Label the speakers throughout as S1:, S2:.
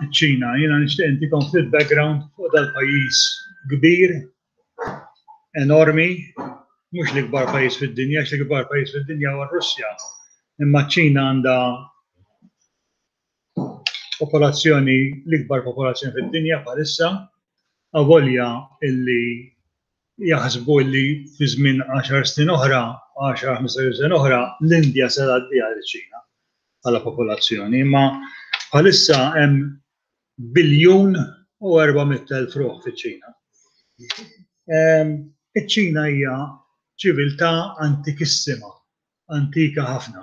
S1: ċ-Ċina, jiena nixtieq intikom ftit background fuq dal-pajjiż kbir, enormi, mhux l-ikbar pajjiż fid-dinja, għax l-ikbar pajjiż fid-dinja huwa r-Russja, imma ċ-Ċina għandha popolazzjoni, l-ikbar popolazzjoni fid-dinja bħalissa, avolja illi jaħsbu illi fi żmien 10 snin oħra, 10-15 sena oħra, l-Indja se tgħaddiha liċ-Ċina bħala popolazzjoni, imma bħalissa hemm biljun u 400,000 ruħ fiċ-Ċina. Iċ-Ċina hija ċiviltà antikissima, antika ħafna.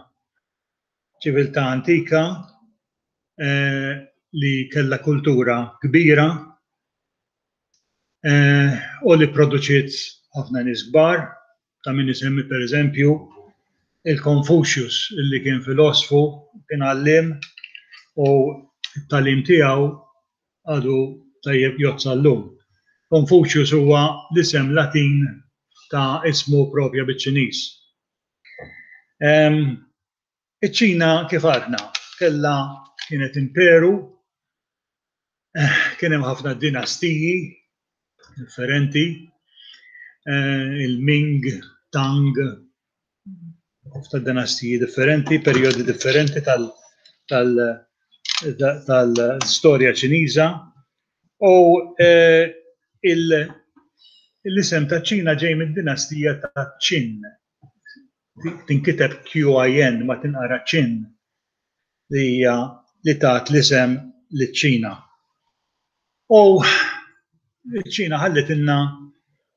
S1: Ċiviltà antika li kellha kultura kbira u li pproduċiet ħafna nies kbar, ta' min isemmi pereżempju il-Confucius li kien filosfu, kien għalliem u t-tagħlim tiegħu għadu tajjeb jgħodd sal-lum. Confucius huwa l-isem Latin ta' ismu proprja biċ-Ċiniż. Iċ-Ċina kif għadna kellha kienet imperu, kien hemm ħafna dinastiji differenti, il-Ming, Tang, ħafna dinastiji differenti, perjodi differenti tal-istorja Ċiniża. U l-isem ta' Ċina ġej mid-dinastija ta' Qin. Tinkiteb QIN ma tinqara Qin li hija li tat l-isem liċ-Ċina. U ċ-Ċina ħallitilna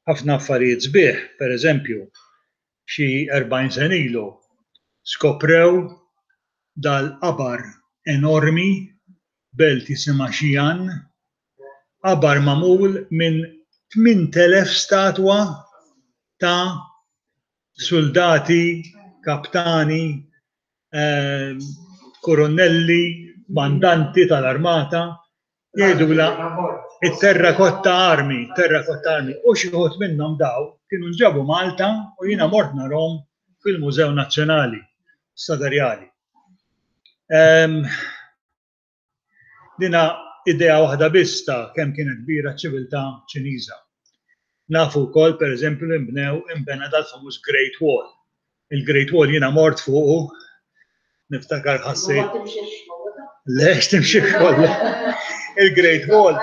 S1: ħafna affarijiet sbieħ, pereżempju, xi 40 sena ilu skoprew dal-qabar enormi belt jisimha Xi'an, qabar magħmul minn 8,000 statwa ta' suldati, kaptani, kurunnelli, kmandanti tal-armata, jgħidulha it-Terracotta Army, Terracotta Army, u xi wħud minnhom daw kienu nġabu Malta u jiena mort narhom fil-Mużew Nazzjonali Stadarjali. Dina idea waħda biss ta' kemm kienet kbira ċ-ċiviltà Ċiniża. Nafu wkoll pereżempju li nbnew inbena dal-famuż Great Wall. Il-Great Wall jiena mort fuqu, niftakar ħassejt. Le, x'timxi kollha. Il-Great Wall.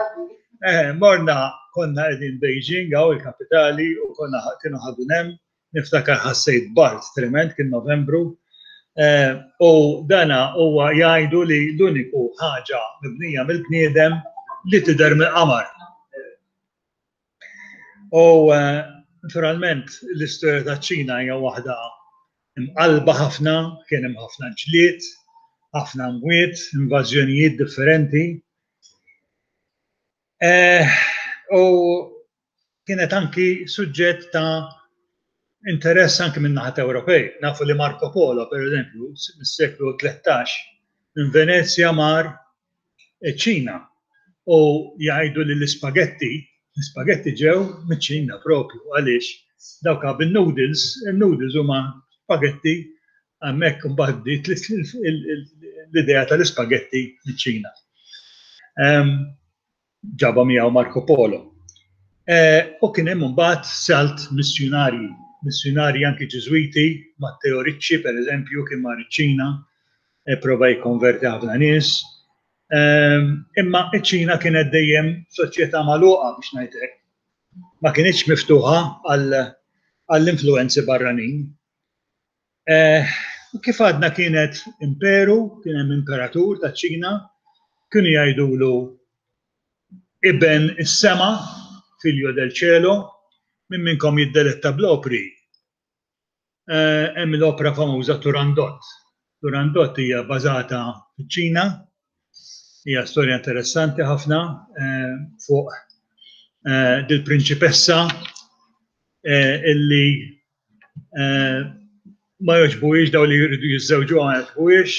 S1: Eh, morna konna qegħdin Beijing hawn il-kapitali u konna kienu ħadu hemm Niftakar ħassejt bard tremend, kien Novembru, u dana huwa jgħidu li l-uniku ħaġa mibnija mill-bniedem li tidher mill-qamar. U naturalment l-istorja taċ-Ċina hija waħda mqallba ħafna, kien hemm ħafna ġlied, ħafna mwiet, invażjonijiet differenti. U kienet anki suġġett ta' interess anki minn naħat Ewropej. Nafu li Marco Polo, per eżempju, mis-seklu 13, minn Venezja mar ċ-Ċina u jgħidu li l-ispagetti, l-ispagetti ġew miċ-Ċina propju għaliex dawk bin-noodles, il-noodles huma spagetti hemmhekk imbagħad bdiet l-idea tal-ispagetti miċ-Ċina. Ġabha miegħu Marco Polo. U kien hemm imbagħad salt missjunarji, missjunarji anki Ġiżwiti, Matteo Ricci pereżempju kien mar iċ-Ċina, prova jikkonverti ħafna nies. Imma iċ-Ċina kienet dejjem soċjetà magħluqa biex ngħid hekk. Ma kinitx miftuħa għall-influwenzi barranin. Kif għadna kienet imperu, kien hemm imperatur taċ-Ċina, kienu jgħidulu iben is-sema, figlio del cielo, min minnkom jiddeletta bl-opri. Hemm l-opra famuża Turandot. Turandot hija bażata fiċ-Ċina, hija storja interessanti ħafna fuq dil-prinċipessa illi ma jogħġbuhiex daw li jridu jiżżewġuha ma jogħġbuhiex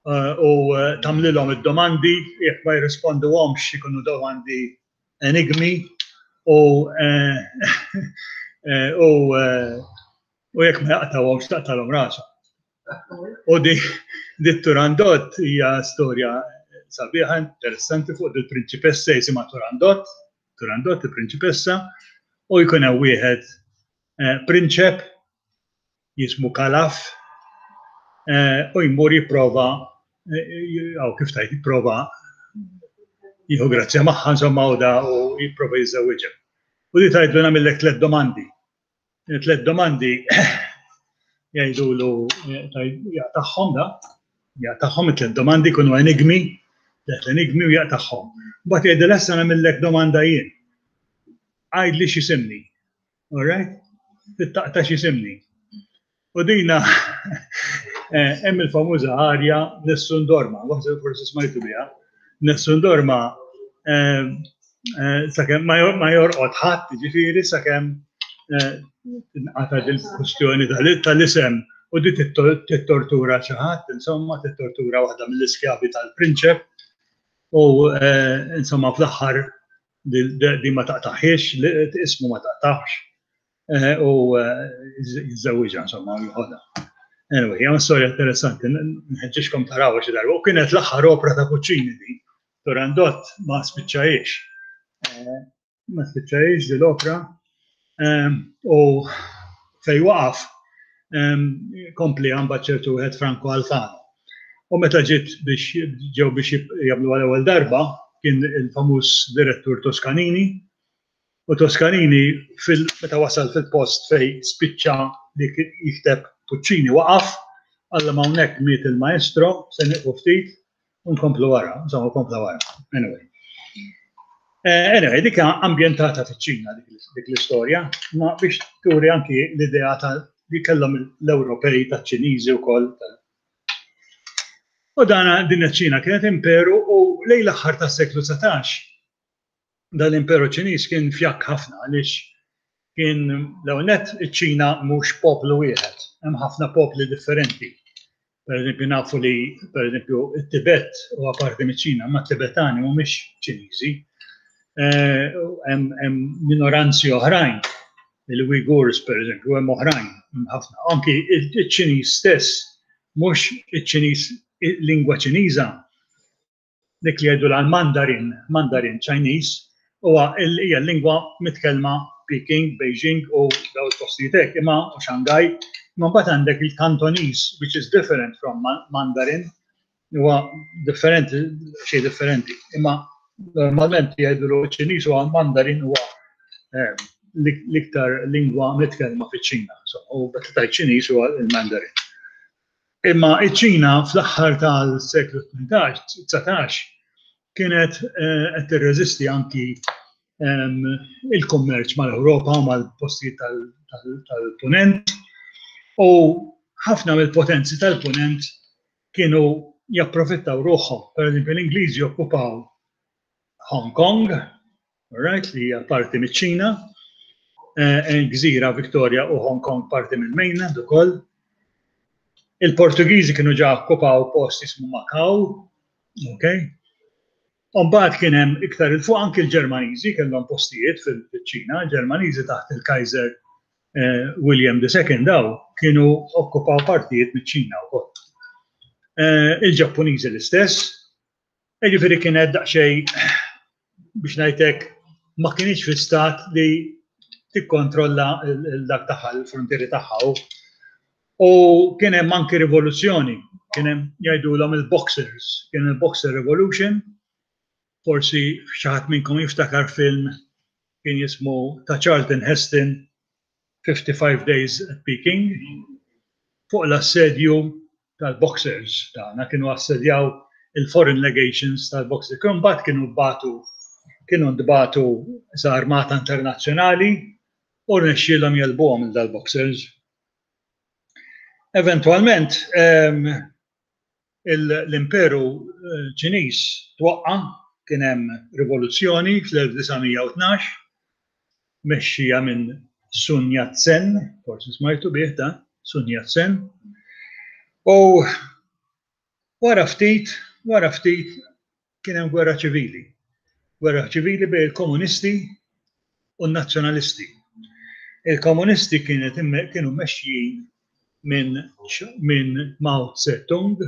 S1: u tagħmlilhom id-domandi jekk ma jirrisponduhomx ikunu domandi enigmi u u u jekk ma jaqtawhomx taqtalhom rashom. U di Turandot hija storja sabiħa, interessanti fuq il-prinċipessa jisimha Turandot, Turandot il-prinċipessa, u jkun hemm wieħed eh, prinċep jismu Kalaf eh, u jmur jipprova jew kif tajt jipprova jieħu grazzja magħha insomma u da u jipprova jiżżewwiġha. U di tgħidlu nagħmillek tliet domandi. Tliet domandi jgħidulu jaqtagħhom da, jaqtagħhom it-tliet domandi jkunu enigmi, tliet enigmi u jaqtagħhom. Mbagħad jgħidilha issa nagħmillek domanda jien. Għidli x'isimni. All right? Tittaqta x'isimni. U dina eh, hemm il-famuża arja Nessun Dorma, waħda forsi smajtu biha. Nessun Dorma eh, eh, sakemm ma jorqod ħadd, ġifieri sakemm tinqata' dil-kwistjoni tal-isem u di tittortura xi ħadd, insomma, tittortura waħda mill-iskjavi tal-prinċep u insomma fl-aħħar di ma taqtaħiex, ismu ma taqtaħx eh, u eh, jiżżewwiġha insomma u joħodha. Anyway, hija storja interessanti, nħeġġixkom taraw xi darba. U kienet l-aħħar opra ta' Puccini di, Turandot ma spiċċajiex. Eh, ma spiċċajiex di l-opra u fej waqaf kompli għamba ċertu wieħed Franco Alfano. U meta ġiet biex ġew biex jagħmlu għal ewwel darba kien il-famuż direttur Toscanini u Toscanini fil meta wasal fil-post fej spiċċa li jikteb Puccini waqaf qallhom hawnhekk miet il-maestro se nieqfu ftit u nkomplu wara, insomma kompla wara. Anyway. Eh, anyway, dik ambjentata fiċ-Ċina dik l-istorja, ma biex turi anki l-idea ta' li kellhom l-Ewropej taċ-Ċiniżi wkoll. U dana din iċ-Ċina kienet imperu u lejn l-aħħar tas-seklu 19 dan l-imperu Ċiniż kien fjakk ħafna għaliex kien l-ewwel nett iċ-Ċina mhux poplu wieħed, hemm ħafna popli differenti. Per eżempju nafu li per eżempju it-Tibet huwa parti miċ-Ċina, ma t-Tibetani mhumiex Ċiniżi. Eh, hemm minoranzi oħrajn, il-Uyghurs per eżempju, hemm oħrajn, hemm ħafna. Anki iċ-Ċiniż stess, mhux iċ-Ċiniż lingwa Ċiniża, dik li jgħidulha l-Mandarin, Mandarin Chinese, huwa hija l-lingwa mitkellma Peking, Beijing u daw il-postijiet hekk, imma u Shanghai, imma mbagħad għandek il-Cantonese, which is different from Mandarin, huwa differenti, xejn differenti. Imma normalment jgħidulu ċ-Ċiniż huwa Mandarin huwa eh, l-iktar lingwa mitkellma fiċ-Ċina. U meta tgħid Ċiniż huwa l-Mandarin. Imma iċ-Ċina fl-aħħar tal-seklu 18, 19 kienet eh, qed tirreżisti anki ehm, il-kummerċ mal-Ewropa u mal-postijiet tal-Punent u ħafna mill-potenzi tal-Punent kienu japprofittaw ruħhom. Per eżempju, l-Ingliżi okkupaw Hong Kong, right, li hija parti miċ-Ċina, eh, gżira Victoria u Hong Kong parti mill-mainland ukoll. Il-Portugiżi kienu ġa okkupaw post jismu Macau, ok? Umbagħad kien hemm iktar il fuq anki l-Ġermaniżi kellhom postijiet fil-Ċina, il-Ġermaniżi taħt il-Kaiser eh, William II daw kienu okkupaw partijiet miċ-Ċina wkoll. Eh, Il-Ġappuniżi l-istess, Jiġifieri kienet daqsxejn biex ngħidlek ma kinitx fi stat li tikkontrolla dak tagħha l-frontieri tagħha. U kien hemm anki rivoluzzjoni, kien hemm jgħidulhom il-Boxers, kien il-Boxer Revolution, forsi xi ħadd minnkom jiftakar film kien jismu ta' Charlton Heston 55 Days at Peking fuq l-assedju tal-Boxers tagħna kienu assedjaw il-foreign legations tal-Boxers. Kienu mbagħad kienu batu kienu ntbagħtu sa armata internazzjonali u rnexxielhom jegħlbuhom il dal-Boxers. Eventwalment ehm, l-Imperu Ċiniż twaqqa', kien hemm rivoluzzjoni fl-1912 mexxija minn Sun Yat-sen, forsi smajtu bih dan, Sun Yat-sen, u wara ftit, wara ftit kien hemm gwerra ċivili. Gwerra ċivili bejn il-komunisti u n-nazzjonalisti. Il-komunisti kienet kienu mexjin minn min Mao Zedong.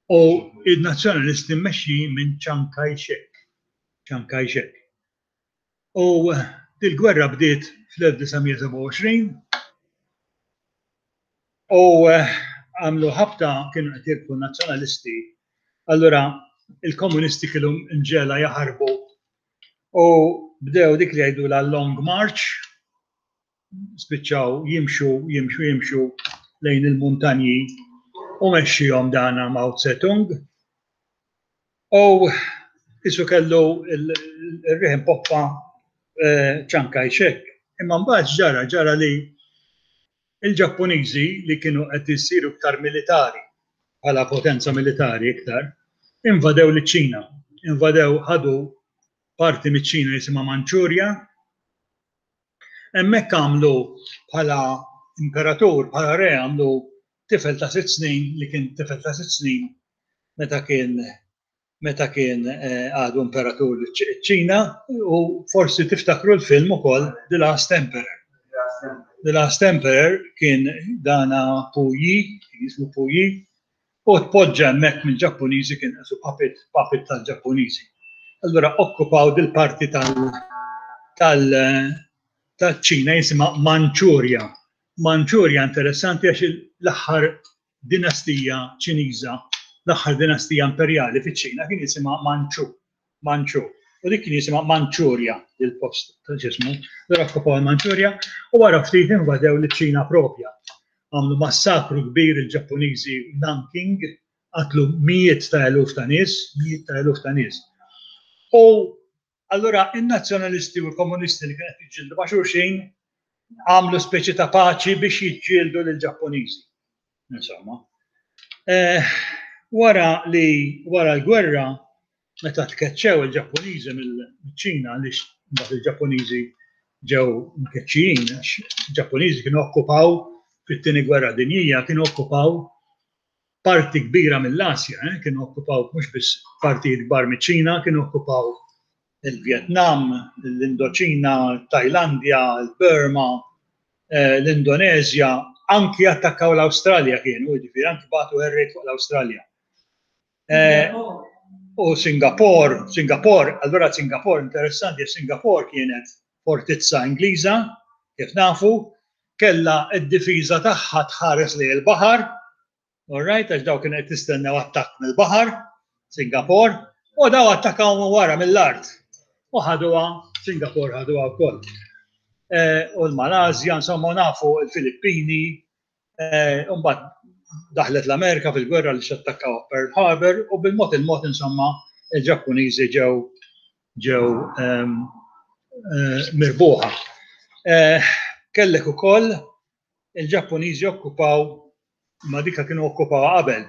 S1: U n-Nazzjonalisti mmexxijin minn Chiang Kai-shek. Chiang Kai-shek. U dil-gwerra bdiet fl-1927 u għamlu ħabta kienu qed jirbħu n-Nazzjonalisti. Allura il-Komunisti kienu mġegħla jaħarbu u bdew dik li jgħidulha Long March, spiċċaw jimxu, jimxu, jimxu lejn il-muntanji u mexxihom dana Mao Zedong. U qisu kellu r-riħ impoppa Chiang Kai-shek. Imma mbagħad x'ġara? Ġara li l-Ġappuniżi li kienu qed isiru iktar militari, bħala potenza militari iktar, invadew liċ-Ċina. Invadew, ħadu parti miċ-Ċina jisimha Manċurja. Hemmhekk għamlu bħala imperatur, bħala re għamlu tifel ta' sitt snin li kien tifel ta' sitt snin meta kien meta kien għadu imperatur ċ-Ċina u forsi tiftakru l-film ukoll The Last Emperor. The Last Emperor kien dana Pu Yi, kien jismu Pu Yi, u tpoġġa hemmhekk mill-Ġappuniżi kien qisu puppet, puppet tal-Ġappuniżi. Allura okkupaw dil-parti tal tal taċ-Ċina jisimha Manċurja. Manċurja interessanti għax l-aħħar dinastija Ċiniża, l-aħħar dinastija imperjali fiċ-Ċina kien jisimha Manchu, Manchu. U dik kien jisimha Manċurja, il-post ta' ġismu. Allura okkupaw il-Manċurja u wara ftit invadew liċ-Ċina propja. Għamlu massakru kbir il-Ġappuniżi Nanking, qatlu mijiet ta' eluf ta' nies, mijiet ta' eluf ta' nies. U Allura in-Nazzjonalisti u l-Komunisti li kienu qed jiġġieldu ma' xulxin għamlu speċi ta' paċi biex jiġġieldu lill-Ġappuniżi. Insomma. Eh, wara li wara l-gwerra meta tkeċċew il-Ġappuniżi mill-Ċina għaliex mbagħad il-Ġappuniżi ġew mkeċċijin għax il-Ġappuniżi kienu okkupaw fit-tieni gwerra dinjija kienu okkupaw parti kbira mill-Asja, eh, kienu okkupaw mhux biss partijiet kbar miċ-Ċina, kienu okkupaw il-Vjetnam, l-Indoċina, Tajlandja, il-Burma, eh, l-Indonezja, anki attakkaw l-Awstralja kienu, jiġifieri anki bagħtu air raid fuq l-Awstralja. Eh, u Singapore, Singapore, allura Singapore interessanti, Singapore kienet fortizza Ingliża, kif nafu, kellha d-difiża tagħha tħares lejn il-baħar, all right, għax daw kienu qed jistennew attakk mill-baħar, Singapore, u daw attakkaw minn wara mill-art. U ħaduha, Singapore ħaduha wkoll. Eh, u l-Malasja, insomma, nafu l-Filippini, eh, u mbagħad daħlet l-Amerika fil-gwerra li xattakkaw Pearl Harbor u bil-mod il-mod insomma il-Ġappuniżi ġew ġew ehm, eh, mirbuħa. Eh, kellek ukoll il-Ġappuniżi okkupaw ma dika kienu okkupaw qabel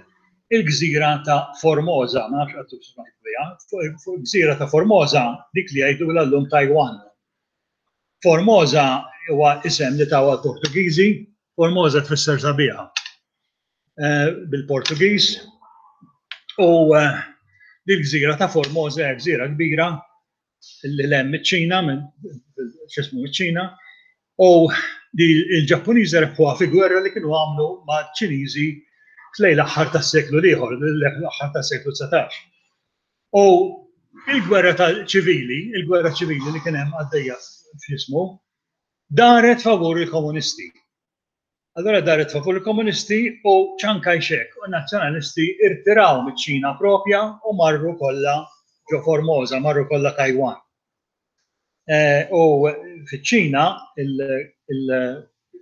S1: il-gżira ta' Formosa, ma nafx għattu smajt biha, fuq gżira ta' Formosa, dik li jgħidu l-lum Taiwan. Formosa huwa isem li tawa l-Portugiżi, Formosa tfisser sabiħa. Eh, bil-Portugiż u eh, dil-gżira ta' Formosa hija gżira kbira li l-hemm iċ-Ċina minn x'ismu iċ-Ċina u il-Ġappuniżi rebħuha fi gwerra li kienu għamlu ma' Ċiniżi f'lejn l-aħħar tas-seklu l-ieħor, l-aħħar tas-seklu 19. U il-gwerra ċivili, il-gwerra ċivili li kien hemm għaddejja f'ismu, daret favur il-komunisti. Allura daret favur il-komunisti u Chiang Kai-shek u n-nazzjonalisti irtiraw miċ-Ċina propja u marru kollha ġo Formosa, marru kollha Taiwan. Eh, u fiċ-Ċina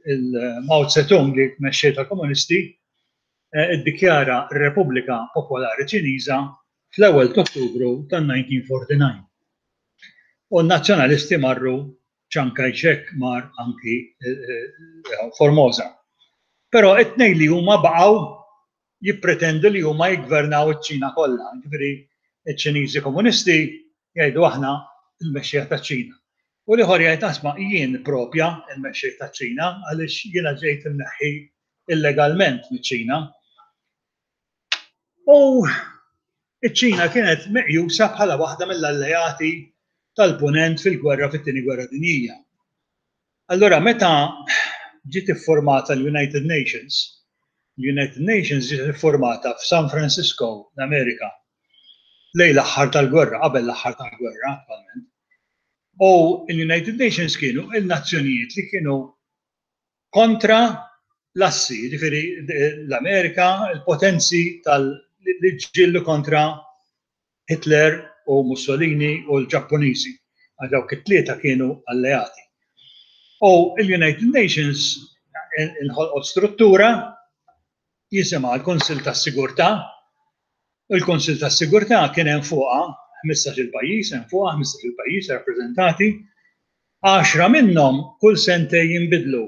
S1: il-Mao Zedong li mexxej tal-komunisti eh, iddikjara r-Repubblika Popolari Ċiniża fl-ewwel t'Ottubru tan-1949. U n-nazzjonalisti marru Chiang Kai-shek mar anki Formosa. Però it-tnejn li huma baqgħu jippretendu li huma jiggvernaw iċ-Ċina kollha. Ġifieri iċ-Ċiniżi komunisti jgħidu aħna l-mexxejja taċ-Ċina. U l-ieħor jgħid asma' jien propja l-mexxej taċ-Ċina għaliex jiena ġejt imneħħi illegalment miċ-Ċina. U iċ-Ċina kienet meqjusa bħala waħda mill-alleati tal-Punent fil-gwerra fit-Tieni Gwerra Dinjija. Allura meta ġiet iffurmata l-United Nations, L-United Nations ġiet iffurmata f'San Francisco, l-Amerika, lejn l-aħħar tal-gwerra, qabel l-aħħar tal-gwerra, attwalment. U l-United Nations kienu il-nazzjonijiet li kienu kontra l-assi, jiġifieri l-Amerika, il-potenzi tal li ġġieldu kontra Hitler u Mussolini u l-Ġappuniżi, għax dawk it-tlieta kienu alleati. U l-United Nations inħolqot struttura jisimha l-Kunsill tas-Sigurtà. Il-Kunsill tas-Sigurtà kien hemm fuqha 15-il pajjiż, hemm fuqha 15-il pajjiż rappreżentati, għaxra minnhom kull sentejn jinbidlu.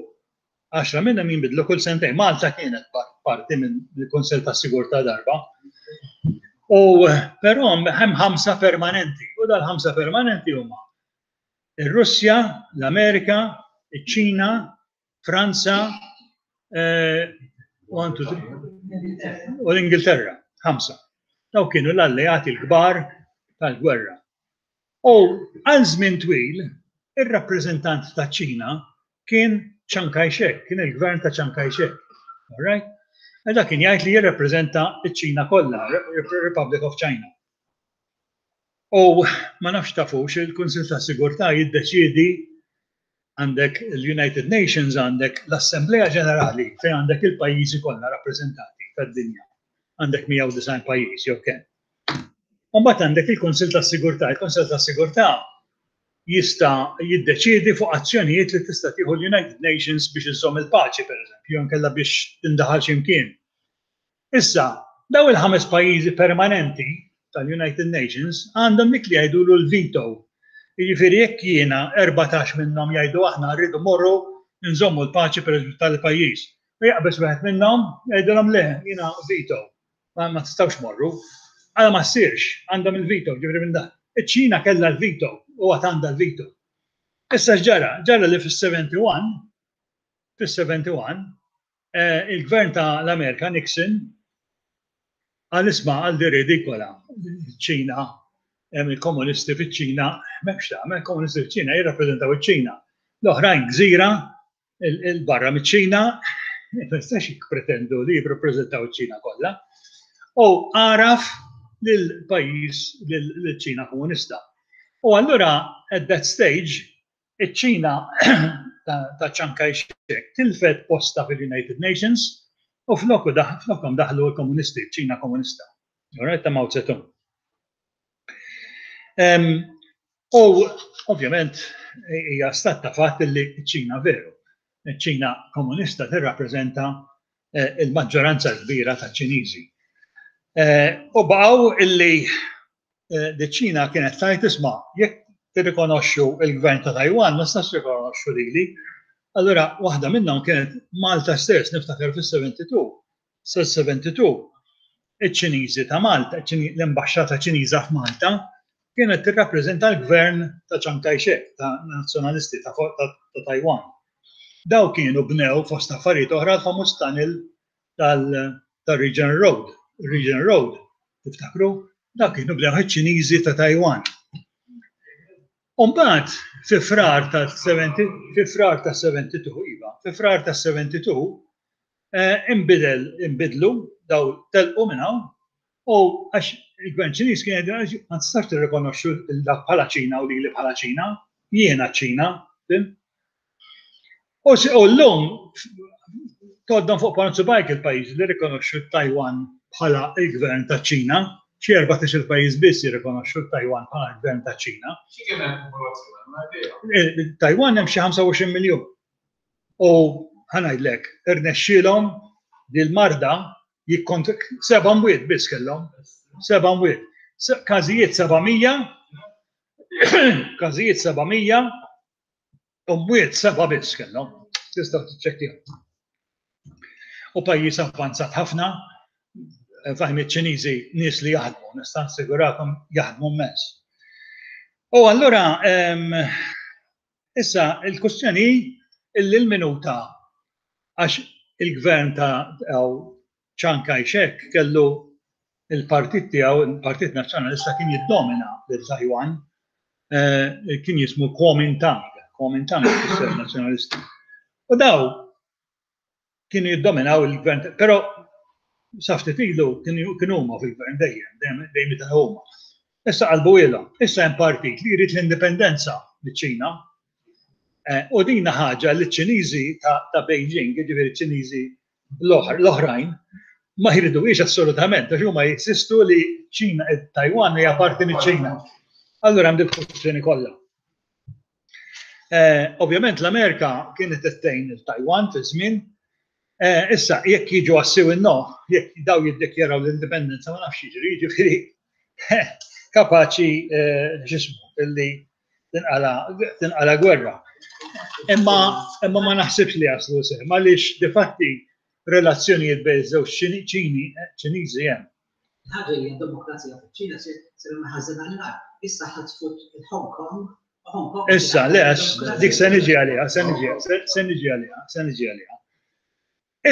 S1: Għaxra minnhom jinbidlu kull sentejn. Malta kienet parti mill-Kunsill tas-Sigurtà darba. U però hemm ħamsa permanenti u dal-ħamsa permanenti huma ir-Russja, l-Amerika, iċ-Ċina, Franza, eh, u l-Ingilterra, ħamsa. Daw kienu l-alleati l-kbar tal-gwerra. U għal żmien twil, ir-rappreżentant ta' ċina kien Chiang Kai-shek, kien il-gvern ta' Chiang Kai-shek. All right? E dak kien jgħid li jirrappreżenta ċ-Ċina kollha, Republic of China. U ma nafx tafux, il-Kunsill tas-Sigurtà jiddeċiedi għandek l-United Nations għandek l-Assemblea Ġenerali fejn għandek il-pajjiżi kollha rappreżentati tad-dinja. Għandek 190 pajjiż jew kemm. U mbagħad għandek il-Kunsill tas-Sigurtà. Il-Kunsill tas-Sigurtà jista' jiddeċiedi fuq azzjonijiet li tista' tieħu l-United Nations biex iżżomm il-paċi, pereżempju, jew inkella biex tindaħal xi mkien. Issa, dawn il-ħames pajjiżi permanenti tal-United Nations għandhom dik li jgħidulu l-veto. Jiġifieri jekk jiena 14 minnhom jgħidu aħna rridu mmorru nżommu l-paċi pereżempju tal-pajjiż. U jaqbeż wieħed minnhom jgħidilhom le, jiena veto. Ma, ma tistgħux morru. Għala ma ssirx, għandhom il-veto, ġifieri minn dan. Iċ-Ċina kellha l-veto u għad għandha l-veto. Issa x'ġara? Ġara li fis-71 fis-71 Il-gvern ta' l-Amerika, Nixon, qal isma' għal di ridikola, ċ-Ċina, hemm il-komunisti fiċ-Ċina, m'hemmx tagħmel, il-komunisti fiċ-Ċina jirrappreżentaw iċ-Ċina. L-oħrajn gżira 'l barra miċ-Ċina, ma jistax jippretendu li jirrappreżentaw iċ-Ċina kollha. U għaraf lill-pajjiż lill-Ċina komunista. U allura at that stage Iċ-Ċina ta' Chiang Kai-shek tilfet postha fil-United Nations u floku flokhom daħlu l-komunisti, ċ-Ċina komunista. Alright, ta' Mao Zedong. U ovvjament hija stat ta' fatt li ċ-Ċina veru. Iċ-Ċina komunista tirrappreżenta eh, il-maġġoranza kbira ta' Ċiniżi. Eh, u baqgħu illi Li ċ-Ċina kienet tgħid isma' jekk tirrikonoxxu l-gvern ta' Taiwan ma tistax tirrikonoxxu lili. Allura waħda minnhom kienet Malta stess, niftakar fis-72, sal-72 iċ-Ċiniżi ta' Malta, l-imbaxxata Ċiniża f'Malta kienet tirrappreżenta l-gvern ta' Chiang Kai-shek, ta' nazzjonalisti ta' Taiwan. Daw kienu bnew fost affarijiet oħra l-famuż tunnel tal-Regional Road. Regional Road, tiftakru? Dak kienu bdew iċ-Ċiniżi ta' Taiwan. Umbagħad fi frar ta' 70 fi frar ta' 72 iva, fi frar ta' 72 eh, imbidel imbidlu daw telqu minn hawn u għax il-gvern Ċiniż kien jgħid ma tistax tirrikonoxxu dak bħala Ċina u lili bħala Ċina, jiena ċ-Ċina, fim? U llum tgħoddhom fuq ponot subgħajk il-pajjiżi li rrikonoxxu t-Taiwan bħala l-gvern taċ-Ċina. Xi 14-il pajjiż biss jirrikonoxxu t-Taiwan bħala l-gvern taċ-Ċina.
S2: Xi kemm hemm popolazzjoni, ma idea.
S1: Taiwan hemm xi 25 miljun. U ħa ngħidlek, irnexxielhom li l-marda jikkont seba' mwiet biss kellhom. Seba' mwiet. Każijiet 700, każijiet 700, U mwiet seba' biss kellhom. Tistgħu tiċċekkjaw. U pajjiż avvanzat ħafna, fahim iċ-Ċiniżi nies li jaħdmu, nista' nassigurakom jaħdmu immens. U allura issa l-kwestjoni hi illi l-minuta għax il-gvern ta' Chiang Kai-shek kellu l-partit tiegħu, il-Partit Nazzjonalista kien jiddomina lil Taiwan, kien jismu Kuomintang, Kuomintang tfisser nazzjonalisti. U daw kienu jiddominaw il-gvern, però Sa ftit ilu kienu huma fil-gvern dejjem, dejjem jitilgħu huma. Issa qalbuhielhom. Issa hemm partit li jrid l-indipendenza miċ-Ċina. U din ħaġa li ċ-Ċiniżi ta' Beijing, jiġifieri ċ-Ċiniżi l-oħrajn, ma jriduhiex assolutament, għax huma jinsistu li ċ-Ċina, Taiwan hija parti miċ-Ċina. Allura hemm dik il-kwistjoni kollha. Ovvjament l-Amerika kienet qed tgħin il-Taiwan fi żmien. Issa jekk jiġu għas-siw in-no, jekk daw jiddikjaraw l-indipendenza ma nafx jiġri, jiġifieri kapaċi x'ismu illi tinqala gwerra. Imma imma ma naħsibx li jaslu sehem għaliex difatti relazzjonijiet bejn żewġ Ċini Ċiniżi hemm.
S3: Il-ħaġa hija d-demokrazija fiċ-Ċina sejra mill-ħażin għall-agħar. Issa ħatfu l-Hong Kong u Hong Kong.
S1: Issa, le, għax dik se niġi għaliha, se niġi, se niġi għaliha, se niġi għaliha.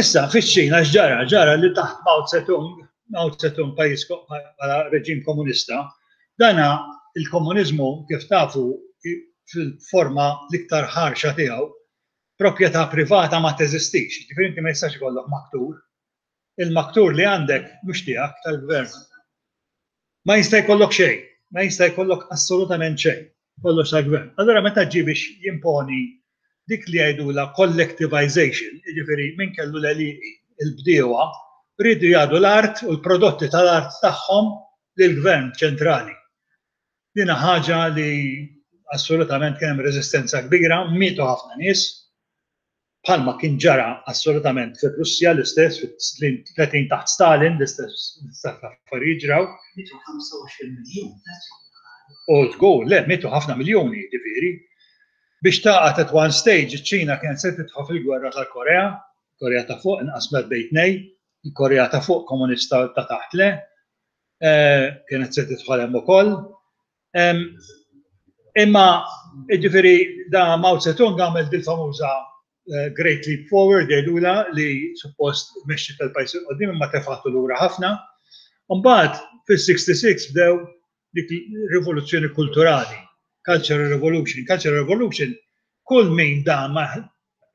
S1: Issa, fiċ-Ċina x'ġara? Ġara li taħt Mao Zedong, Mao Zedong pajjiż bħala reġim komunista, dana il-komuniżmu kif tafu fil-forma l-iktar ħarxa tiegħu, proprjetà privata ma teżistix, jiġifieri inti ma jistax ikollok maktur, Il-maktur li għandek mhux tiegħek, tal-gvern. Ma jista' jkollok xejn, ma jista' jkollok assolutament xejn, kollox tal-gvern. Allura meta ġie biex jimponi dik li jgħidulha collectivization, jiġifieri min kellu l-għelieqi, il-bdiewa, riedu jagħdu l-art u l-prodotti tal-art tagħhom lill-gvern ċentrali. Din ħaġa li assolutament kien hemm reżistenza kbira, mietu ħafna nies, bħalma kien ġara assolutament fir-Russja l-istess fis-snin 30 taħt Stalin l-istess affarijiet ġraw.
S3: Mietu 25 miljun.
S1: U żgur, le, mietu ħafna miljuni, jiġifieri. Biex tagħqad at one stage iċ-Ċina kienet se tidħol fil-gwerra tal-Korea, Korea ta' fuq inqasmet bejn tnejn, il-Korea ta' fuq komunista ta' taħt le, kienet se tidħol hemm ukoll. Imma, jiġifieri, da Mao Zedong għamel dil-famuża Great Leap Forward jgħidulha li suppost mexxi tal-pajjiż 'il quddiem imma tefgħatu lura ħafna. Mbagħad fis-66 bdew dik rivoluzzjoni kulturali, Cultural Revolution. Cultural Revolution kull min da ma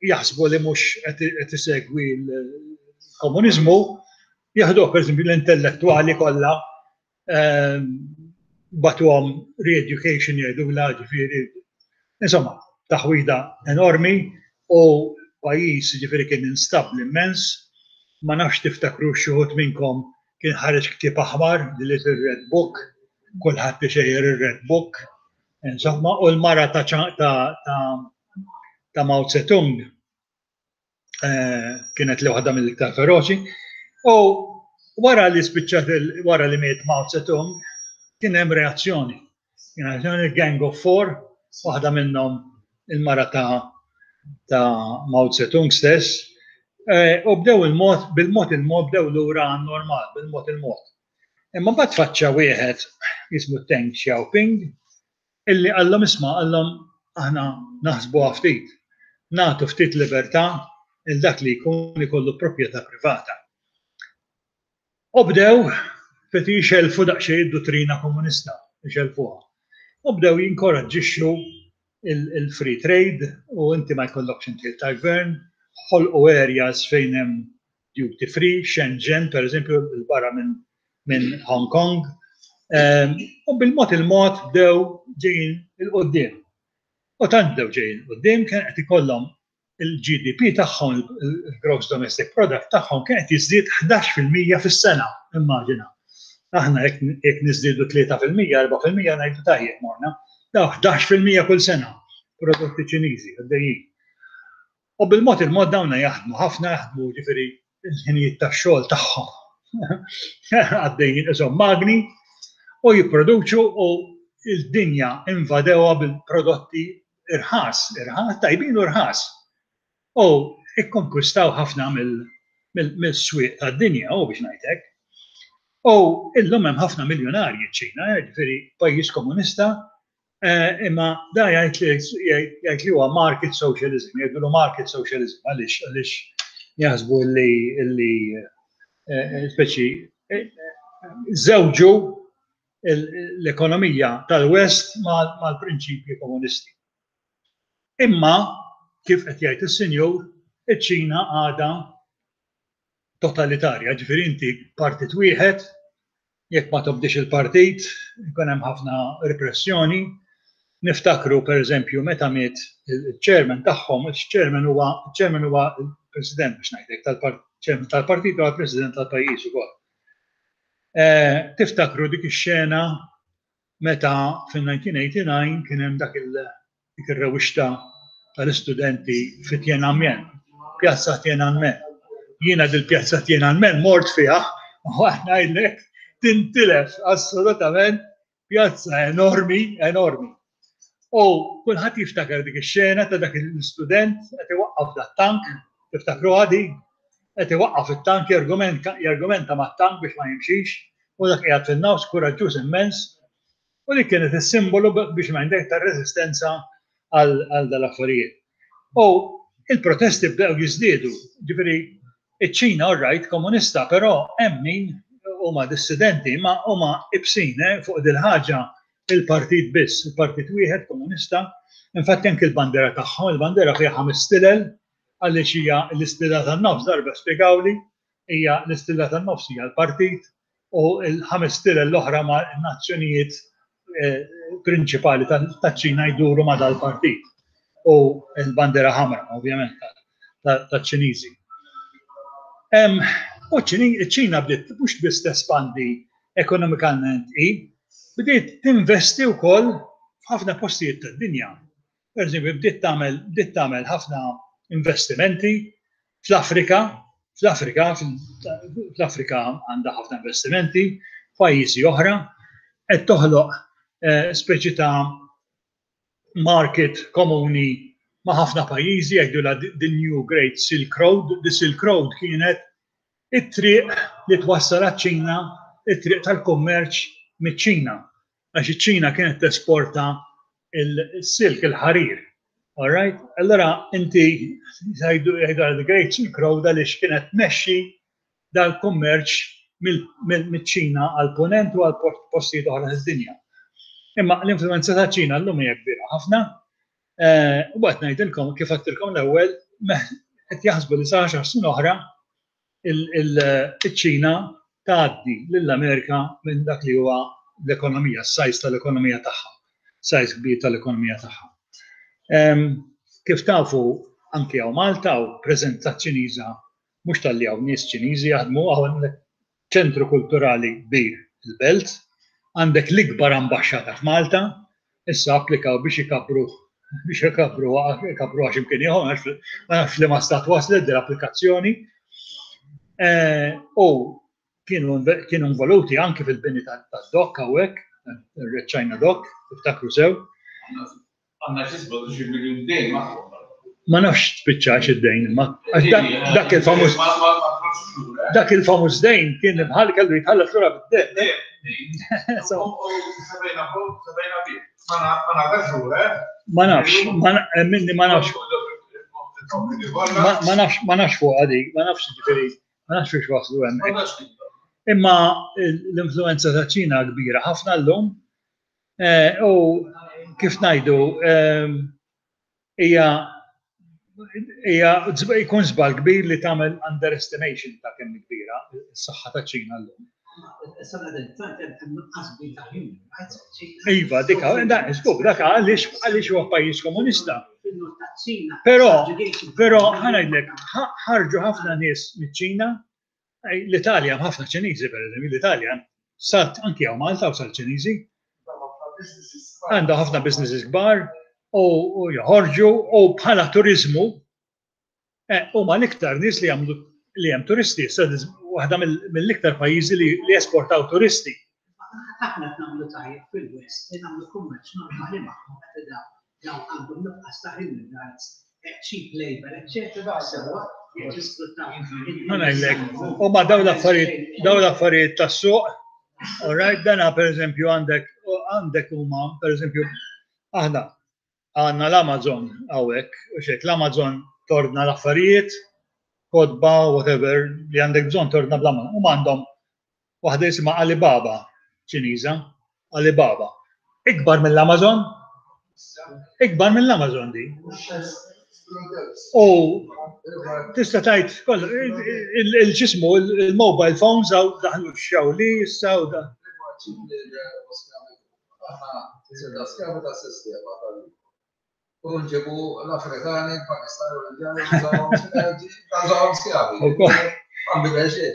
S1: jaħsbu li mhux qed isegwi l-komuniżmu, jaħduh pereżempju l-intellettwali kollha bagħtuhom re-education jgħidulha ġifieri insomma taħwida enormi u pajjiż ġifieri kien instabbli immens. Ma nafx tiftakrux xi wħud minnkom kien ħareġ ktieb aħmar, The Little Red Book, kulħadd ixejjer ir-Red Book, insomma, u l-mara ta' ta' ta' Mao Zedong kienet li waħda mill-iktar feroċi. U wara li spiċċat wara li miet Mao Zedong, kien hemm reazzjoni. Kien hemm il-Gang of Four, waħda minnhom il-mara ta' ta' Mao Zedong stess, u bdew il-mod, bil-mod il-mod bdew lura għan-normal, bil-mod il-mod. Imma mbagħad tfaċċa wieħed jismu Deng Xiaoping, illi qallhom isma' qallhom aħna naħsbuha ftit, nagħtu ftit libertà lil dak li jkun ikollu proprjetà privata. U bdew ftit jxellfu daqsxejn id-duttrina komunista, ixellfuha. U bdew jinkoraġġixxu il-free trade u inti ma jkollokx intiel tal-gvern, ħolqu areas fejn hemm duty free, Shenzhen per eżempju, barra minn minn Hong Kong. U bil-mod il-mod bdew ġejjin 'il quddiem. U tant bdew ġejjin 'il quddiem kien qed ikollhom il-GDP tagħhom, il-Gross Domestic Product tagħhom kien qed jiżdied 11% fis-sena, immaġina. Aħna jekk niżdiedu 3%, 4% ngħidu tajjeb morna. Daw 11% kull sena prodotti Ċiniżi għaddejjin. U bil-mod il-mod dawna jaħdmu ħafna, jaħdmu ġifieri il-ħinijiet tax-xogħol tagħhom għaddejjin qishom magni u jipproduċu u l-dinja invadewha bil-prodotti irħas, irħas, tajbin u rħas. U ikkonkwistaw ħafna mill-swieq tad-dinja, u biex ngħid hekk. U illum hemm ħafna miljonarji ċ-Ċina, ġifieri pajjiż komunista Imma da jgħid li jgħid li huwa market socialism, jgħidulu market socialism għaliex għaliex jaħsbu li li speċi żewġu l-ekonomija tal-West mal-prinċipji komunisti. Imma kif qed jgħid is-Sinjur, iċ-Ċina għadha. totalitarja, ġifieri inti partit wieħed, jekk ma tobdix il-partit, ikun hemm ħafna repressjoni. Niftakru pereżempju meta miet il-chairman tagħhom, il-chairman huwa chairman huwa il-president biex ngħidlek tal-chairman tal-partit huwa l-president tal-pajjiż ukoll. Eh, tiftakru dik ix-xena meta fin-1989 kien hemm dak il dik ir-rewwixta tal-istudenti fi Tiananmen, Pjazza Tiananmen. Jiena dil-Pjazza Tiananmen mort fiha u ngħidlek tintilef assolutament pjazza enormi, enormi. U kulħadd jiftakar dik ix-xena ta' dak l-istudent qed iwaqqaf dat-tank, tiftakruha di? Qed iwaqqaf it-tank jargumenta mat-tank biex ma jimxix u dak qiegħed fin-nofs kuraġġuż immens U dik kienet is-simbolu biex ngħidlek tar-reżistenza għal dal-affarijiet. U il-protesti bdew jiżdiedu, ġifieri iċ-Ċina all right komunista, però hemm min huma dissidenti ma huma ibsin eh, fuq dil-ħaġa il-partit biss, il-partit wieħed komunista. Infatti anke l-bandera tagħhom, il-bandera fiha ħames stilel għaliex hija l-istilla tan-nofs darba spjegawli hija l-istilla tan-nofs hija l-partit u l-ħames stilel l-oħra ma' nazzjonijiet eh, prinċipali taċ-Ċina jduru ma' dal-partit u l-bandera ħamra, ovvjament, taċ-Ċiniżi. U ċ-Ċina bdiet mhux biss tespandi ekonomikament i, bdiet tinvesti wkoll f'ħafna postijiet tad-dinja. Per eżempju, bdiet tagħmel bdiet tagħmel ħafna investimenti fl-Afrika, fl-Afrika, fl-Afrika għandha ħafna investimenti, f'pajjiżi oħra, qed toħloq eh, speċi ta' market komuni ma' ħafna pajjiżi jgħidulha the New Great Silk Road. The Silk Road kienet it-triq li twassal għaċ-Ċina, it-triq tal-kummerċ miċ-Ċina. Għax iċ-Ċina kienet tesporta il-silk, il-ħarir. All right? Allora inti jgħidu the Great Silk Road għaliex kienet tmexxi dal-kummerċ mill-Ċina għal-punent u għal postijiet oħra fid-dinja. Imma l-influenza ta' ċina llum hija kbira ħafna. Eh, u qed ngħidilkom kif għedtilkom l-ewwel qed jaħsbu li sa 10 snin oħra iċ-Ċina tgħaddi lill-Amerika minn dak li huwa l-ekonomija, s-sajz tal-ekonomija tagħha, sajz kbir tal-ekonomija tagħha. Kif tafu anki hawn Malta hawn preżenza Ċiniża mhux talli hawn nies Ċiniżi jaħdmu hawn ċentru kulturali kbir il-belt, għandek l-ikbar ambaxxata f'Malta, issa applikaw biex ikabbru biex ikabbru ikabbru għax imkien ieħor, ma nafx li ma stat waslet din l-applikazzjoni. Eh, u kienu kienu involuti anki fil-bini tad-dok hawnhekk, ir-Red China Dock, tiftakru sew.
S2: Għandna xi 17 miljun dejn magħhom.
S1: Ma nafx spiċċax id-dejn imma dak il-famuż dak il-famuż dejn kien bħal kellu jitħallas lura bid-dejn. Ma nafx, minni ma nafx. Ma nafx, ma nafx fuq għadik, ma nafx ġifieri, ma nafx biex waslu hemmhekk. Imma l-influenza ta' Ċina kbira ħafna llum Eh, u kif ngħidu ehm, hija hija jkun żball kbir li tagħmel underestimation ta' kemm kbira s-saħħa ta' ċina llum. Iva, dik żgur, dak għaliex għaliex huwa pajjiż komunista. Però, però ħanajdlek, ħarġu ħafna nies miċ-Ċina L-Italja hemm ħafna Ċiniżi pereżempju, l-Italja sat anki hawn Malta u sal Ċiniżi. Għandha ħafna businesses kbar u joħorġu u bħala turiżmu eh, huma l-iktar nies li jagħmlu li hemm turisti, issa waħda mill-iktar pajjiżi li jesportaw turisti.
S3: Aħna qed nagħmlu tajjeb fil-West li nagħmlu kummerċ normali magħhom meta dawn għandhom nuqqas ta' human rights, cheap labour, eċċetera, sewwa jekk jisfruttaw.
S1: Ma ngħidlek, huma dawn l-affarijiet, dawn l-affarijiet tas-suq, all right, dana pereżempju għandek għandek huma pereżempju aħna għandna l-Amazon hawnhekk, u xek l-Amazon tordna l-affarijiet, kotba, whatever, li għandek bżonn tordna bl-Amazon. Huma għandhom Waħda jisimha Alibaba, Ċiniża, Alibaba. Ikbar mill-Amazon? Ikbar mill-Amazon di. U tista' tgħid kollha il-ġismu il-mobile phones hawn daħlu x-Xiaoli issa u da.
S2: U nġibu l-Afrikani, l-Pakistani u l-Indjani, użawhom skjavi. Ma nbidel xejn.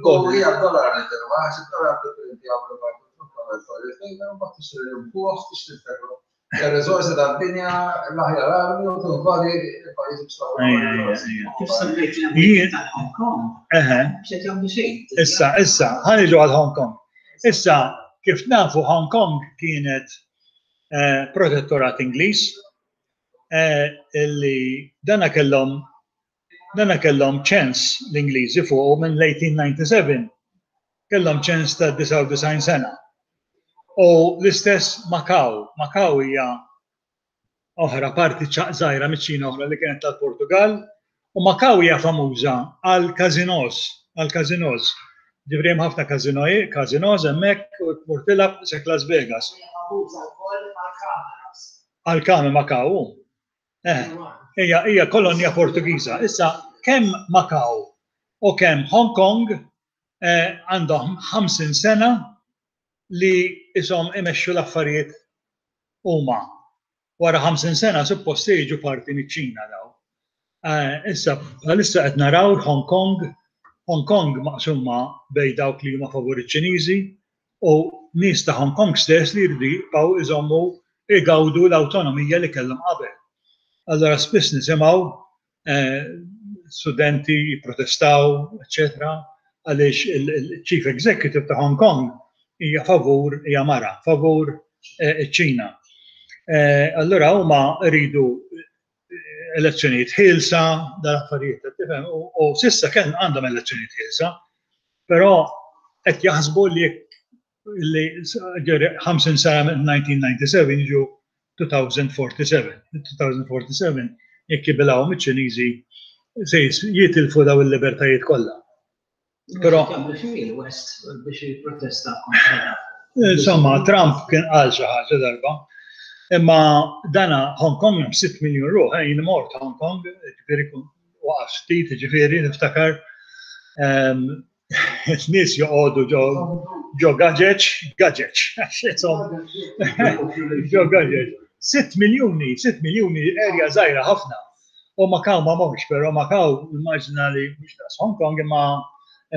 S2: U hija dollar nitilgħu, għax id-dollar tipprintja u mbagħad tixtri l-impuħ, tixtri l-ferro. Ir-riżorsi tad-dinja, l-aħjar armi u tinvadi il-pajjiż biex tagħmel.
S3: Kif semmejt l-Amerika tal-Hong Kong?
S1: Eħe.
S3: X'qed jagħmlu xejn.
S1: Issa, issa, ħa niġu għal Hong Kong. Issa, kif nafu Hong Kong kienet eh, protettorat Ingliż eh, illi dana kellhom dana kellhom ċens l-Ingliżi fuqu minn l-1897. Kellhom ċens ta' 99 sena. U l-istess Macau. Macau hija oħra parti żgħira miċ-Ċina oħra li kienet tal-Portugal u Macau hija famuża għal casinos, għal casinos. Ġifieri hemm ħafna casinos hemmhekk u tmur tilgħab isek Las Vegas.
S3: Hija famuża wkoll għall-kameras.
S1: Għall-kamer Macau. Eh, hija hija kolonja Portugiża. Issa kemm Macau u kemm Hong Kong eh, għandhom 50 sena li ishom imexxu l-affarijiet huma. Wara 50 sena suppost se jiġu parti miċ-Ċina daw. Eh, issa bħalissa qed naraw Hong Kong, Hong Kong maqsuma bejn dawk li huma favur iċ-Ċiniżi u nies ta' Hong Kong stess li jridu jibqgħu iżommu igawdu l-awtonomija li kellhom qabel. Allora spiss nisimgħu eh, studenti jipprotestaw, eċetera, għaliex il-Chief Executive ta' Hong Kong hija favur hija mara, favur eh, iċ-Ċina. Eh, allura huma rridu elezzjonijiet ħielsa, dal-affarijiet ta' tifhem, u sissa kien għandhom elezzjonijiet ħielsa, però qed jaħsbu li li 50 sena minn 1997 jiġu 2047. 2047 jekk jibilgħu miċ-Ċiniżi se jitilfu daw il-libertajiet kollha. Però
S3: il-West biex jipprotesta kontra.
S1: Insomma, Trump kien qal xi ħaġa darba. Imma dana Hong Kong hemm 6 miljun ruħ, eh, jien mort Hong Kong, ġifieri waqaf ftit, ġifieri niftakar ehm, nies joqogħdu ġo ġo gaġeġ, gaġeġ, ġo gaġeġ. 6 miljuni, 6 miljuni erja żgħira ħafna. U Macau ma morx, però Macau immaġina li mhux daqs Hong Kong imma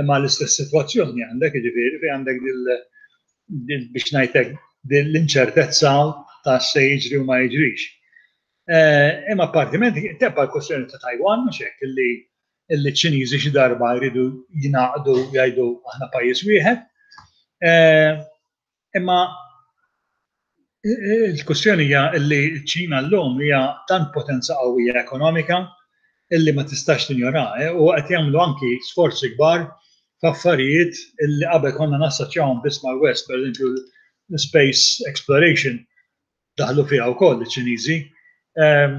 S1: imma l-istess sitwazzjoni għandek, jiġifieri fejn għandek dil biex ngħidlek l-inċertezza ta' se jiġri u ma jiġrix. Eh, imma appartiment tebba l-kwestjoni ta' Taiwan mhux hekk illi illi ċ-Ċiniżi xi darba jridu jingħaqdu jgħidu aħna pajjiż wieħed. Eh, imma il-kwestjoni hija li ċ-Ċina llum hija tant potenza qawwija ekonomika illi ma tistax tinjora eh, u qed jagħmlu anki sforzi kbar f'affarijiet illi qabel konna nassoċjawhom biss mal-West, pereżempju l-space exploration daħlu fiha wkoll iċ-Ċiniżi. Ehm,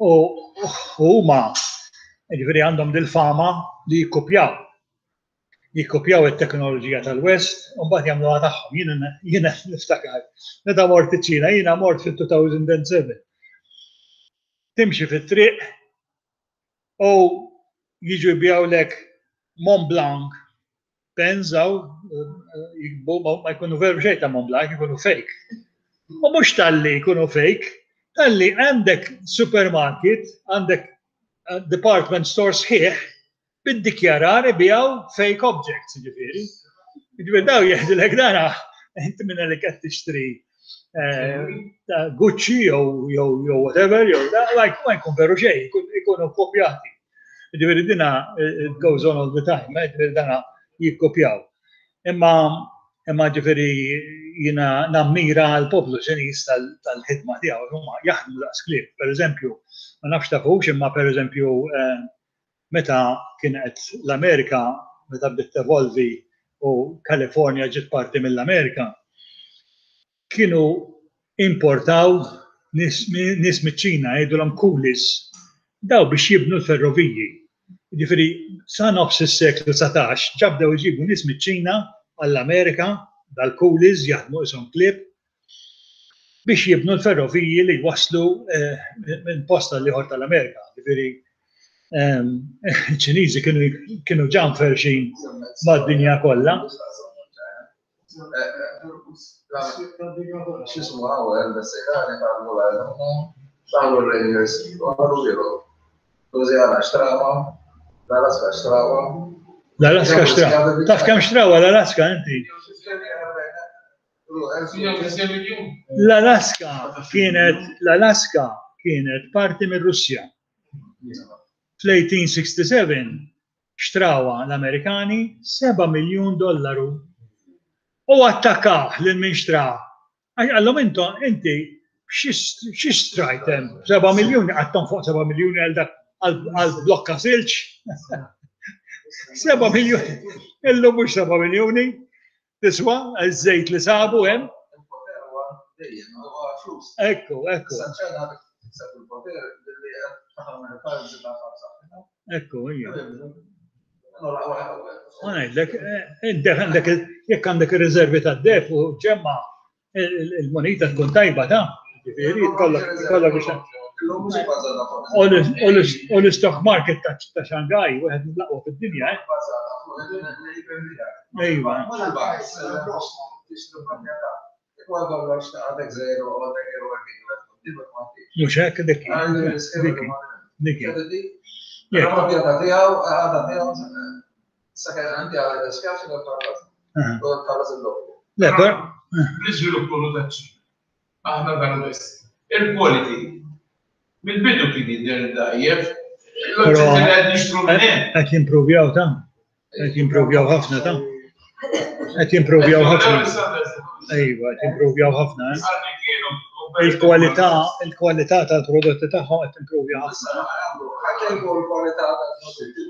S1: u huma jiġifieri għandhom dil-fama li jikkupjaw. Jikkupjaw it-teknoloġija tal-West u mbagħad jagħmluha tagħhom. Jiena jiena niftakar meta mort iċ-Ċina, jiena mort fit-2007. Timxi fit-triq u jiġu jbigħulek Mont Blanc pens hawn jikbu ma jkunu veru xejn ta' Mont Blanc, jkunu fake. U mhux talli jkunu fake, talli għandek supermarket, għandek eh, department store sħiħ bid-dikjarar ibijaw fake objects, ġifieri. Ġifieri daw jeħdilek dana, inti minna li qed tixtri eh, Gucci jew jew whatever, jew da, ma jkun veru xejn, ikunu kopjati. Ġifieri dina it goes on all the time, eh, ġifieri dana jikkopjaw. Imma imma ġifieri jiena nammira l-poplu Ċiniż tal-ħidma tiegħu, huma jaħdmu daqs klieb. Per eżempju, ma nafx tafux imma per eżempju eh, meta kienet l-Amerika meta bdiet tevolvi u Kalifornja ġiet parti mill-Amerika, kienu importaw nies miċ-Ċina jgħidulhom coolies, daw biex jibnu l-ferroviji. Jiġifieri sa nofs is-seklu 19 ġa bdew iġibu nies miċ-Ċina għall-Amerika, dal-coolies jaħdmu qishom klieb. biex jibnu l-ferroviji li jwasslu minn post għal ieħor tal-Amerika. Ġifieri ċ-Ċiniżi kienu ġa mferrxin mad-dinja kollha.
S2: X'ismu hawn il-Messikani talbu l-għajnuna, daħlu r-Rangers u ħadu lilhom. Louisiana xtrawha, l-Alaska xtrawha.
S1: L-Alaska xtrawha. Taf kemm xtrawha l-Alaska inti? L-Alaska kienet l-Alaska kienet parti mir-Russja. Fl-1867 xtrawha l-Amerikani 7 miljun dollaru. U attakkah lil min xtrah. Għax qallhom intom inti xi xtrajt hemm? 7 miljuni qatt tonfoq 7 miljuni għal dak għal blokka silġ. 7 miljuni. Illum mhux 7 miljuni. Tiswa ż-żejt li sabu hemm.
S2: Il-poter huwa dejjem huwa flus.
S1: Ekku, ekku.
S2: Issa ċ-Ċina tikseb il-poter billi qed tagħmel il-currency tagħha b'saħħitha.
S1: Ekku, hija. Ma ngħidlek, għandek jekk għandek ir-riservi tad-deheb u ġemma il-moneta tkun tajba ta' ġifieri kollok kollok biex U l-stock market ta' Shanghai, wieħed mill-aqwa fid-dinja, eh? Ejwa. Mhux hekk dik. Dik. Le, per.
S4: L-iżvilupp kollu taċ-Ċina. Aħna dan biss. Il-quality. Mill-bidu kien jidher dgħajjef. L-oġġetti li qed nixtru minn hemm.
S1: Qed jimprovjaw ta' qed jimprovjaw ħafna ta' qed jimprovjaw ħafna. Ejwa, qed jimprovjaw ħafna. Eh? Il-kwalità, il-kwalità tal-prodotti tagħhom qed timprovja ħafna.
S2: Il-kwalità tal-prodotti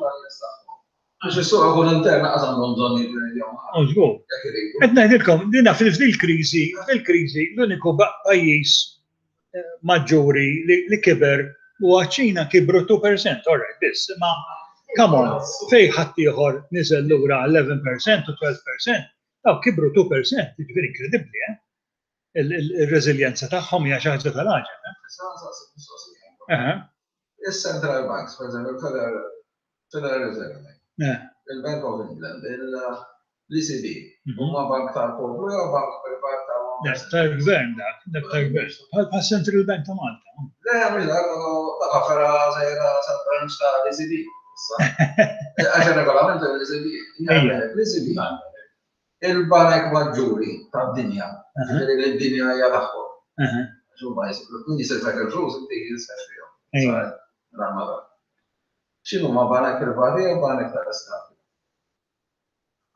S2: Għax is-suq ikun intern lanqas għandhom bżonn jipprenjaw ma'
S1: ħadd. Żgur. Qed ngħidilkom, dina fil-kriżi, fil-kriżi l-uniku pajjiż maġġuri li kiber huwa ċ-Ċina kibru 2%, all right, biss, imma come on, fejn ħaddieħor niżel lura 11% u 12%, dawk kibru 2%, jiġifieri inkredibbli, eh? Il-reżiljenza tagħhom hija xi ħaġa tal-għaġeb, eh?
S2: Issa nsaqsik mistoqsija. Is-central banks, per eżempju, il-Federal Federal Reserve, il-Bank of England, l-ECB, mhm. huma bank tal-poplu jew bank privat
S1: tal Dak tal-gvern dak, dak tal-gvern. Bħal Central Bank ta' Malta.
S2: Le, mhux dak, dak affera żejra branch ta' l-ECB. Għax il-regolament l-ECB. L-ECB il-banek maġġuri tad-dinja, ġifieri li d-dinja hija tagħhom. Għax huma min jisilfek il-flus inti jinsef fihom. X'inhuma banek privati jew banek tal-Istat?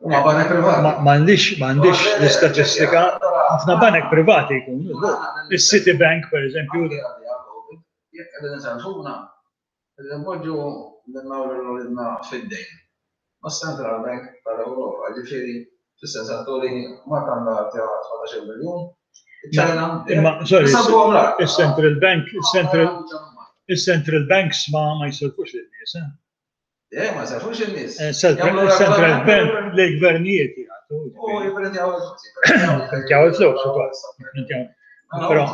S2: Huma banek privati.
S1: M'għandix m'għandix l-istatistika, ħafna banek privati jkunu. Is-Citibank pereżempju.
S2: Jekk qegħdin isalvuna, qegħdin inpoġġu lilna u lil uliedna fid-dejn. Mas-Central Bank tal-Ewropa, ġifieri fis-sens atturi Malta għandha 17 miljun,
S1: iċ-Ċina. Imma sorry, is-Central Bank, is-Central is-Central Banks ma ma jisilfux lin-nies, eh?
S2: Eh, ma jisilfux in-nies.
S1: Eh, Central Bank lill-gvernijiet
S2: jagħtu. U jipprintjaw il-flus.
S1: Jipprintjaw il-flus ukoll. Però.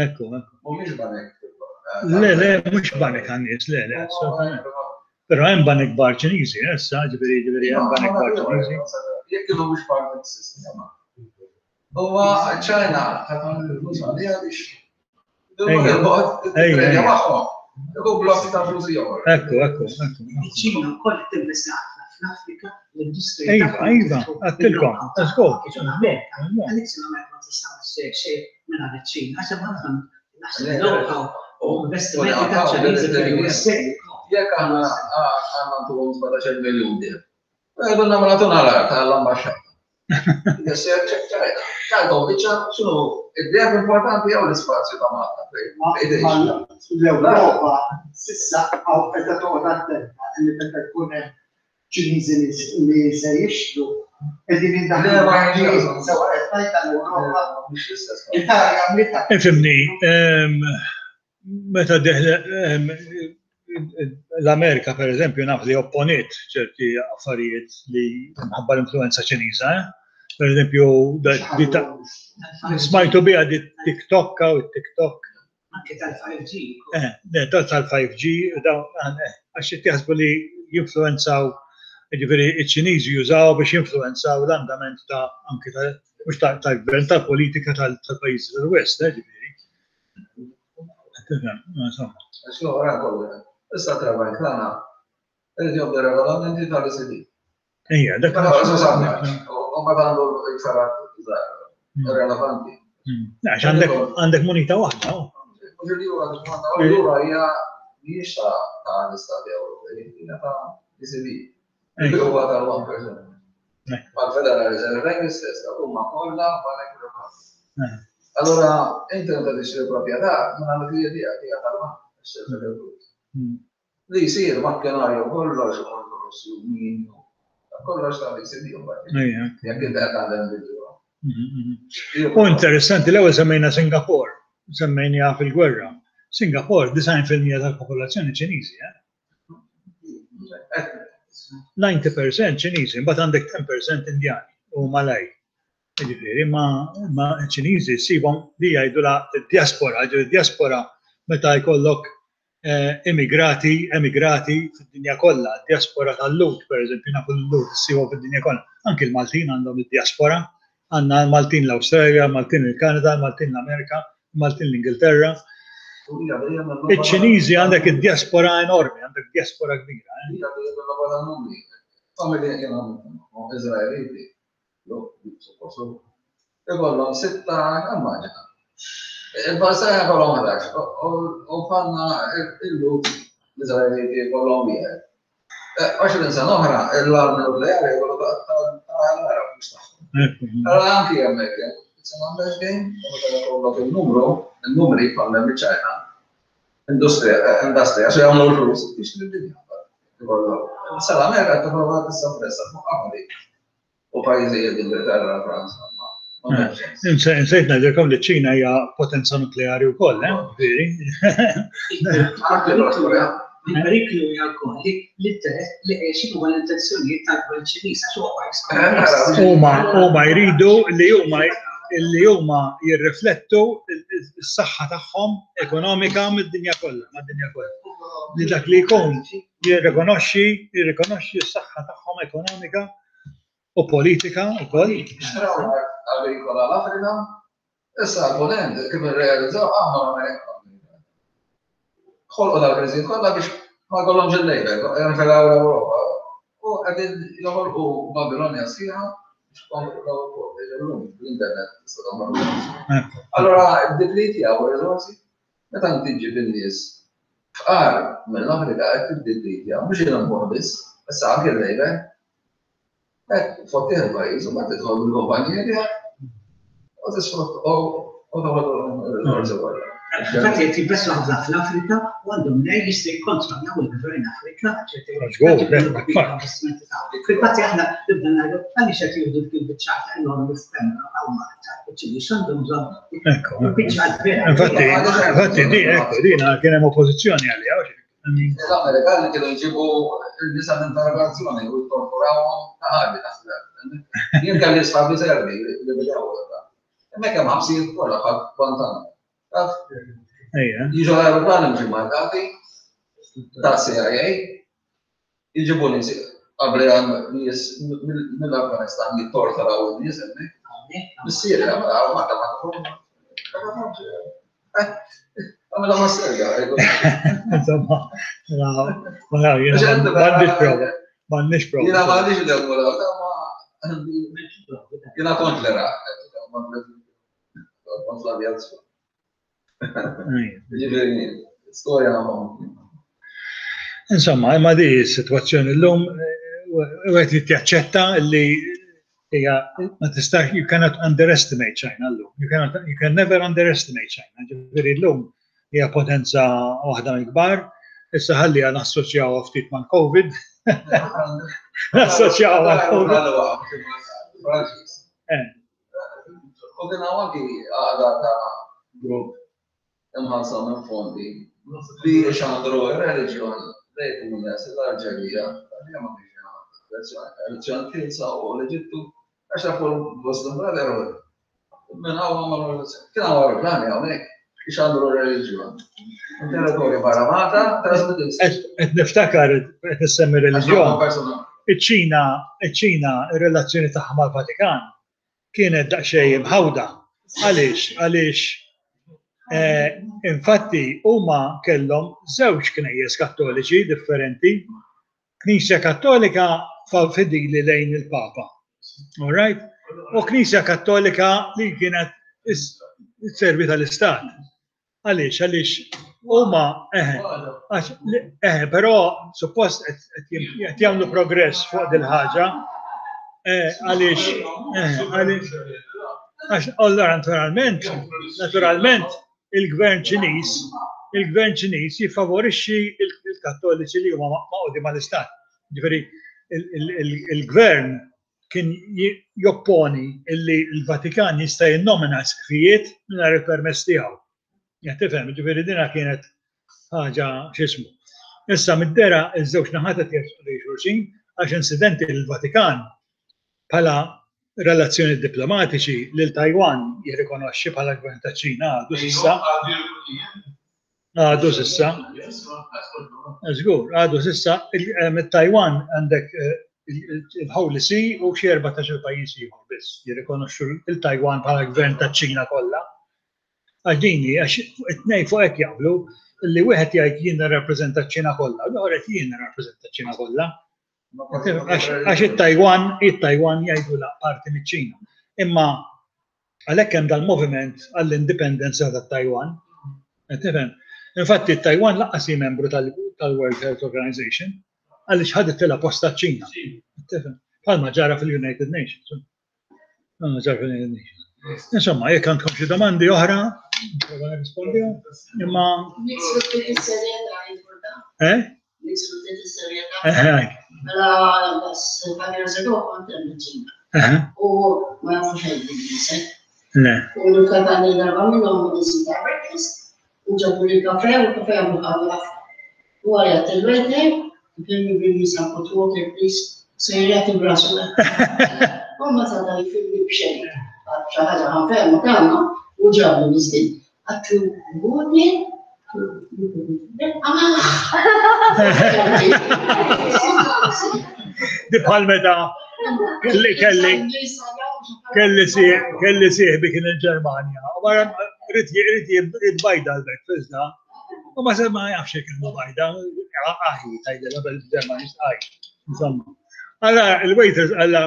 S1: Ekku, ekku.
S2: Mhumiex banek.
S1: Le, le, mhux banek għan-nies, le, le, assolutament. Però hemm banek kbar Ċiniżi, eh, issa, ġifieri ġifieri hemm banek kbar Ċiniżi.
S2: Jekk kienu mhux parti mis-sistema. Huwa ċ-Ċina ħadd il-flus għaliha biex ejja magħhom. Ikun blokk ta' flus ieħor.
S1: Ekku, ekku, ekku.
S3: Iċ-Ċina wkoll qed tinvesti ħafna fl-Afrika, l-industrija.
S1: Iva, iva, għattilkom, żgur.
S3: L-Amerika, għalhekk l-Amerika ma tista' xejn mingħajr iċ-Ċina, għax hemm ħafna Naħseb know-how u investimenti ta' Ċiniżi fil-USA.
S2: Jekk aħna għandna ntuhom 17 miljun dir. Għedunna ma nagħtuna l-art għall-ambaxxata. Ċajta biċċa x'inhu id-deheb importanti jew l-ispazju ta' Malta
S5: fejn. L-Ewropa s'issa hawn qiegħda toqgħod attenta li meta jkun hemm Ċiniżi li se jixtru qegħdin jindaħlu sewa qed ngħid tal-Ewropa. Italja għamlitha.
S1: Ifhimni, meta deħle l-Amerika per eżempju naf li opponiet ċerti affarijiet li minħabba l-influenza Ċiniża, eh? Per eżempju, smajtu biha di TikTok u TikTok.
S3: Anke tal-5G.
S1: Eh, tal-5G, eh, għax jaħsbu li jinfluenzaw, ġifieri iċ-Ċiniżi jużaw biex jinfluenzaw l-andament ta' anke ta' mhux tal-gvern tal-politika tal-pajjiżi tal-West, eh, ġifieri.
S2: Insomma. Issa trabank tagħna irid jobdi regolamenti tal-ECB.
S1: Ejja, dak.
S2: U ma għandu iktar relevanti.
S1: Hmm. Għax għandek għandek munita waħda. Oh.
S2: Mhux il-euro l-euro hija mhijiex ta' l-Istati Ewropej, hija ta' ECB. Huwa tal-1%. Mal-Federal Reserve Bank l-istess, huma kollha banek privati. Allora, inti meta tixtri proprjetà, minn għandek l-idea hija tal-bank, hmm. Li jsir makkinarju kollox korruzzjoni, kollox ta' li jsir Jekk inti qed taħdem bil-ġuħ.
S1: U interessanti l-ewwel semmejna Singapore, semmejniha fil-gwerra. Singapore 90% tal-popolazzjoni Ċiniżi, eh? 90% Ċiniżi, mbagħad għandek 10% Indjani u Malaj. Jiġifieri ma ma ċ-Ċiniżi ssibhom li jgħidulha d-diaspora, ġifieri diaspora meta jkollok eh, immigrati, emigrati fid-dinja kollha, diaspora tal-Lhud pereżempju, nafu l-Lhud issibhom fid-dinja kollha. Anki l-Maltin għandhom id-diaspora, għandna Maltin l-Awstralja, Maltin il-Kanada, Maltin l-Amerika, Maltin l-Ingilterra. Iċ-Ċiniżi għandek id-diaspora enormi, għandek diaspora kbira. Eh.
S2: Familja kienu Izraeliti, Ikollhom sitta, immaġina. Il-Palestina jkollhom 11, u bħalna il-Lhud l-Iżraeliti jkollhom wieħed. 20 sena oħra, l-armi nukleari jkollu tal-Arab mhux tagħhom. Allora anki hemmhekk, it's a numbers game, u meta jkollok il-numru, il-numri bħal hemm iċ-Ċina, industrija, industrija, xi jagħmlu l-flus, tixtri d-dinja. Sal-Amerika tipprova tissappressa fuq qabli. U pajjiżi l-Ingilterra, Franza.
S1: Insejt ngħidilkom li ċ-Ċina hija potenza nukleari wkoll, eh? Veri.
S3: Il-periklu hija wkoll li l-interess li qed huwa l-intenzjonijiet tal-gvern Ċiniż għax huwa pajjiż komunist.
S1: Huma huma jridu li huma li huma jirriflettu s-saħħa tagħhom ekonomika mid-dinja kollha, mad-dinja kollha. Li dak li jkun jirrikonoxxi jirrikonoxxi s-saħħa tagħhom ekonomika u politika wkoll.
S2: Xtraw l-art agrikola l-Afrika, issa l-Punent kif irrealizzaw aħna l-Amerika. Ħolqu dal-kriżijiet kollha biex ma jkollhomx il-labor, jinfelaw l-Ewropa. U qegħdin joħolqu Babilonja sħiħa biex jkomplu illum l-internet tista' tagħmel. Allora ddeplitjaw ir-riżorsi meta inti ġġib in-nies fqar mill-Afrika qed tiddeplitja mhux il-imħuħ biss, issa anke l-labor. Hekk fottih il-pajjiż u mbagħad tidħol bil-kumpanija tiegħek u tisfrutta u toħod ir-riżorsi kollha.
S3: Infatti qed jinvestu ħafna fl-Afrika u għandhom mnejn jistgħu jikkontrollaw il-gvern Afrikan Fil-fatt aħna nibda ngħidu għaliex qed jieħdu dik il-biċċa enormi f'Pembroke hawn Malta, iċ-Ċiniż għandhom bżonn biċċa
S1: kbira. Infatti, infatti di ekku dina kien hemm oppożizzjoni għaliha.
S2: L-Amerikani kienu jġibu il-nisa minn interrogazzjoni u jtorturawhom ta' ħarbi taħt Jien kelli sħabi serbi li bidew Hemmhekk hemm ħabsijiet kollha bħal Guantanamo. Taf? Jiġu l-aeroplani mhux immarkati ta' CIA, jġibu nies qabel għan nies mill-Afganistan jittorturaw in-nies hemmhekk. Mis-Sirja, ma ma ta' ma Għamela ma Serbja.
S1: Insomma, ma jiena m'għandix prova. M'għandix prova.
S2: Jiena m'għandix l-ewwel, ma jiena kont l-Iraq, kont l-avjazzjoni. Ġifieri, storja
S1: Insomma, imma di s-sitwazzjoni llum wieħed irid jaċċetta li hija ma tistax you cannot underestimate China llum. You cannot you can never underestimate China. Ġifieri llum hija potenza waħda mill-kbar. Issa ħalli nassoċjawha ftit mal-COVID. Nassoċjawha mal-COVID.
S2: Eh. U kien hawn anki għaqda ta' grupp imħallsa minn fondi li xandru r-reliġjon lejn Tunis, l-Alġerija, ma kienx elezzjoni ħielsa u l-Eġittu. Għax tafu l-Muslim Brotherhood. Minn hawn għamlu kien hawn aeroplani hawnhekk biex għandu reliġjon. Territorju barra Malta,
S1: Qed niftakar qed issemmi reliġjon. Iċ-Ċina, iċ-Ċina, ir-relazzjoni tagħha mal-Vatikan kienet daqsxejn imħawda. Għaliex? Għaliex eh, infatti huma kellhom żewġ knejjes kattoliċi differenti Knisja Kattolika fidili lejn il-Papa. All right? U Knisja Kattolika li kienet servi tal-Istat. Għaliex, għaliex huma eħe, eħe, però suppost qed jagħmlu progress fuq dil-ħaġa. Eh, għaliex, eħe, għaliex, għax allora naturalment, naturalment, il-gvern Ċiniż, il-gvern Ċiniż jiffavorixxi il-Kattoliċi li huma maqgħudi mal-Istat. Ġifieri il-gvern kien jopponi illi l-Vatikan jista' jinnomina isqfijiet mingħajr il-permess tiegħu. Qed tifhem, ġifieri dina kienet ħaġa x'ismu. Issa mid-dera iż-żewġ naħat qed jersqu lejn xulxin għax insidenti l-Vatikan bħala relazzjonijiet diplomatiċi lil Taiwan jirrikonoxxi bħala gvern taċ-Ċina għadu s'issa. Għadu s'issa. Żgur, għadu s'issa mit-Taiwan għandek eh, il-Holy See u xi 14 pajjiż ieħor biss jirrikonoxxu il-Taiwan bħala gvern taċ-Ċina kollha. Għax dini, għax it-tnejn fuq hekk jaqblu li wieħed jgħid jien nirrappreżenta ċ-Ċina kollha, l-ieħor qed jien nirrappreżenta ċ-Ċina kollha. Għax it-Taiwan, it-Taiwan jgħidu la parti miċ-Ċina. Imma għalhekk hemm dal-moviment għall-indipendenza tat-Taiwan. Tifhem? Infatti t-Taiwan laqqas hi membru tal-World Health Organization għaliex ħadet posta ċ-Ċina. Tifhem? Bħalma ġara fil-United Nations. Insomma, jekk għandkom xi domandi oħra, prova nirrispondihom, imma. Eh?
S6: Eh, Mela, bas, five years ago, kont hemm ċina. U ma jafu xejn bl-Ingliż.
S1: Le.
S6: U l-katani darba minnhom niżin ta' breakfast, U ġabu li kafe u kafe għamlu qawwi ħafna. U għajat il-waiter, can you bring me some hot water please? Sejjer jagħti brasu. U ma ta' dan jifimni b'xejn. Xi ħaġa ħanfehmu tagħna u ġabu niżdin. Għattu water,
S1: Di bħal meta kelli kelli kelli kelli sieħbi kien il-Ġermanja. U wara rrid rrid bajda l-breakfast da. U ma se ma jafx jekk ilma bajda, aħi tgħidilha bil-Ġermaniż aħi. Insomma. Alla il-waiters alla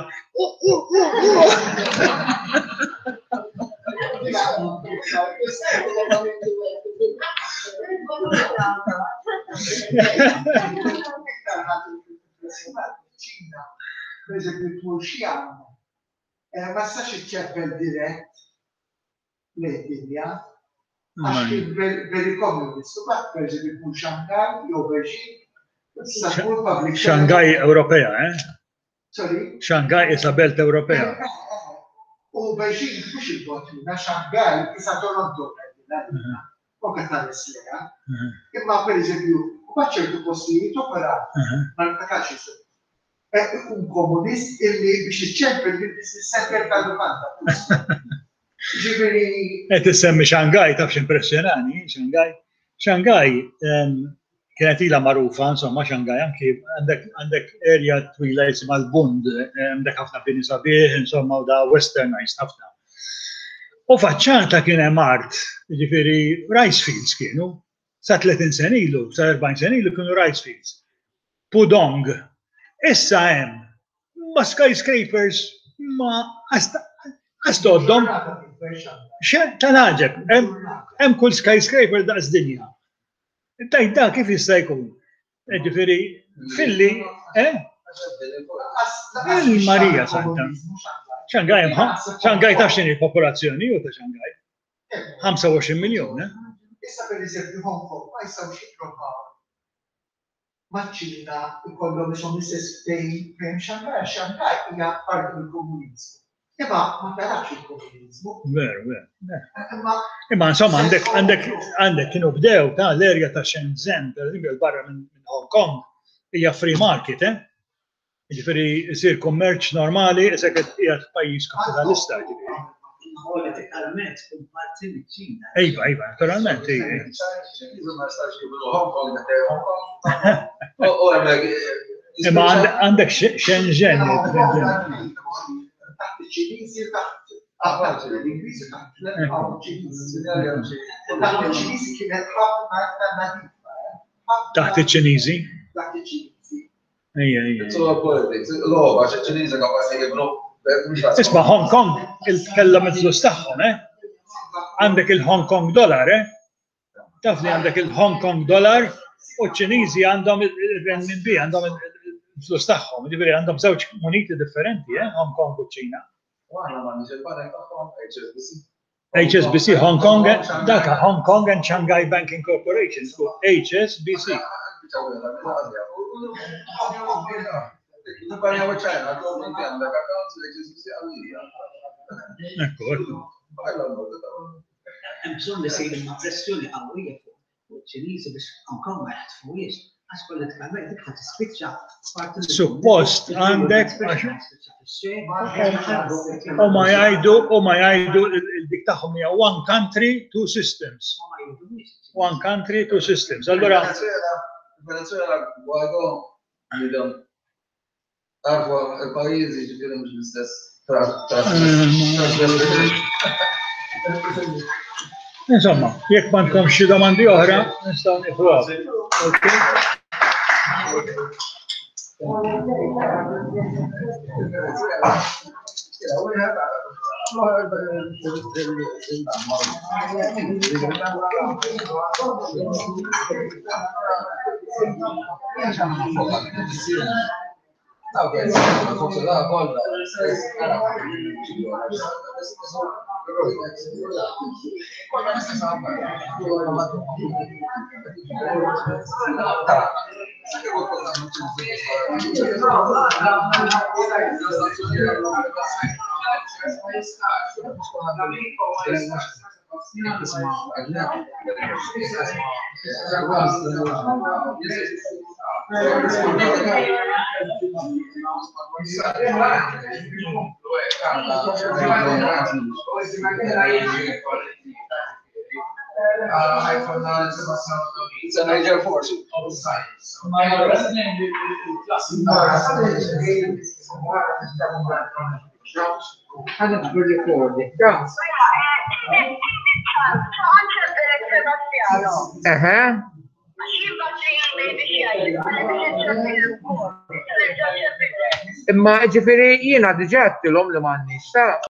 S5: Per eżempju, tmur xi eh, ma stax iċċeppel dirett lejn dinja. Għax kien very communist. U bat per eżempju tmur Shanghai jew Beijing, tista' tmur public.
S1: Shanghai Ewropea, eh?
S5: Sorry?
S1: Shanghai isa belt Ewropea. Eh, eh,
S5: eh, U Beijing mhux il-bot minna, Shanghai isa Toronto. Anke tħares lejha. Imma pereżempju, mbagħad ċertu postijiet oħra, ma niftakarx isem. Ikun komunist illi biex iċċempel bil-business center tal-lukanda. Ġifieri.
S1: Qed issemmi Shanghai taf x'impressjonani, Shanghai. Shanghai kienet ilha magħrufa, insomma, Shanghai anki għandek għandek area twila jisimha l-Bund, għandek ħafna bini sabiħ, insomma, u da westernized ħafna. U faċċata kien hemm art, jiġifieri rice fields kienu, sa 30 sena ilu, sa 40 sena ilu kienu rice fields. Pudong. Issa hemm ma skyscrapers ma għastoddhom. Tal-għaġeb, hemm kull skyscraper daqs dinja. Tajt da kif jista' jkun? Ġifieri filli, eh? Il-Marija Santa. Xangai, Xangai taf x'inhi popolazzjoni u ta' Xangai? 25 miljon, eh?
S5: Issa per eżempju Hong Kong ma jistgħux jipprovaw maċ-Ċina jkollhom ishom l-istess ftehim fejn Shanghai, għax Shanghai hija parti mill-komuniżmu. Imma ma tarax il-komuniżmu.
S1: Veru, veru. Imma Imma insomma għandek għandek għandek kienu bdew ta' l-erja ta' Shenzhen, per eżempju, barra minn Hong Kong, hija free market, eh? Jiġifieri jsir kummerċ normali isek qed qiegħed f'pajjiż kapitalista jiġifieri.
S3: Politikalment tkun parti miċ-Ċina.
S1: Iva, iva, naturalment. Imma għandek Shenzhen.
S5: Taħt iċ-Ċiniżi taħt l-Ingliżi taħt l-Ċiniżi. Taħt iċ-Ċiniżi kienet ħafna iktar nadifa.
S1: Taħt iċ-Ċiniżi?
S5: Taħt iċ-Ċiniżi.
S1: Ejja, ejja.
S2: It's all politics. Logħba, xi Ċiniżi kapaċi jibnu.
S1: Isma' Hong Kong kellhom il-flus tagħhom, eh? Għandek il-Hong Kong dollar, eh? Taf li għandek il-Hong Kong dollar u ċ-Ċiniżi għandhom il-renminbi, għandhom il-flus tagħhom. Ġifieri għandhom żewġ muniti differenti, eh? Hong Kong u ċ-Ċina.
S2: U aħna m'għandniex il-banek tagħhom HSBC.
S1: HSBC Hong Kong, daka Hong Kong and Shanghai Banking Corporation, HSBC. Ekku, ekku.
S3: Hemm bżonn li sejrin ma' pressjoni qawwija fuq ċ-Ċiniżi biex Hong Kong ma jaħtfuhiex, għax politikament dik ħa tispiċċa parti
S1: Suppost għandek u ma jgħidu u ma jgħidu dik tagħhom hija one country, two systems. One country, two systems. Allura
S2: Venezuela, Guaido, bidem Għarfu il-pajjiżi ġifieri mhux l-istess.
S1: Insomma, jekk m'għandkom xi domandi oħra, nistgħu nieħu Okay?
S2: It's a major force.
S7: Għana ġbir recording, ta' Eħe. Imma ġifiri jiena diġà għedtilhom li m'għandniex, ta'